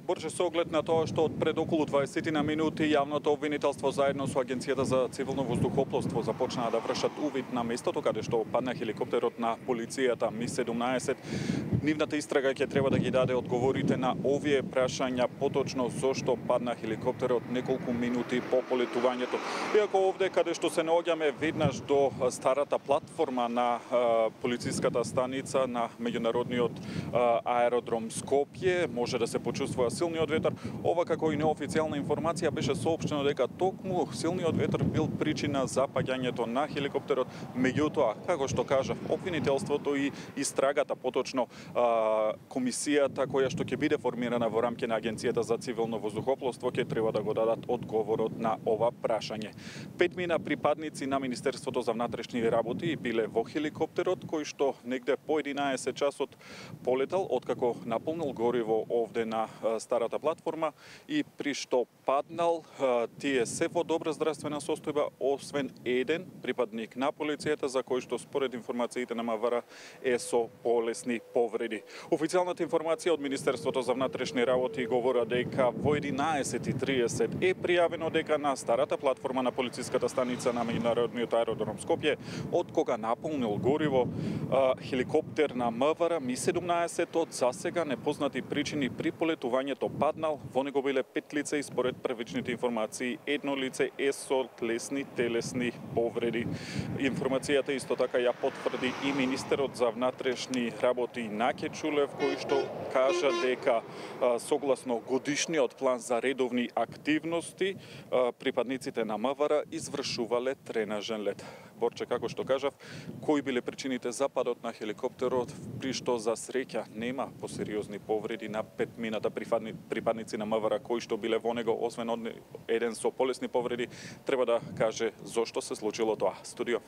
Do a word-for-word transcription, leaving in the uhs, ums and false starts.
Борче, со оглед на тоа што од пред околу дваесет на минути јавното обвинителство заедно со Агенцијата за цивилно воздухопловство започнаа да вршат увид на местото каде што падна хеликоптерот на полицијата Ми седумнаесет. Нивната истрага ќе треба да ги даде одговорите на овие прашања, поточно зошто падна хеликоптерот неколку минути по полетувањето. Иако овде каде што се наоѓаме веднаш до старата платформа на а, полициската станица на меѓународниот а, аеродром Скопје, може да се почувствува силниот ветар. Ова како и неофицијална информација беше соопштено дека токму силниот ветар бил причина за паѓањето на хеликоптерот. Меѓутоа, како што кажа обвинителството и истрагата, поточно а, комисијата која што ќе биде формирана во рамки на Агенцијата за цивилно воздухопловство ќе треба да го дадат одговорот на ова прашање. Петмина припадници на Министерството за внатрешни работи биле во хеликоптерот кој што негде по единаесет часот полетал откако наполнил гориво овде на старата платформа и при што паднал. Тие се во добра здравствена состојба, освен еден припадник на полицијата за кој што според информациите на МВР е со полесни повреди. Официјалната информација од Министерството за внатрешни работи говори дека во единаесет и триесет е пријавено дека на старата платформа на полициската станица на меѓународниот аеродром Скопје, од кога наполнил гориво хеликоптер на МВР Ми седумнаесет од засега непознати причини при полетувањето паднал. Во него биле пет лица и според првичните информации едно лице е со лесни телесни повреди. Информацијата исто така ја потврди и министерот за внатрешни работи Наке Чулев, кој што кажа дека согласно годишниот план за редовни активности припадниците на МВР извршувале тренажен лет. Борче, како што кажав, кои биле причините за падот на хеликоптерот, при што за среќа нема посериозни повреди на петмината припадници на МВР кои што биле во него, освен еден со полесни повреди, треба да каже зошто се случило тоа. Студио.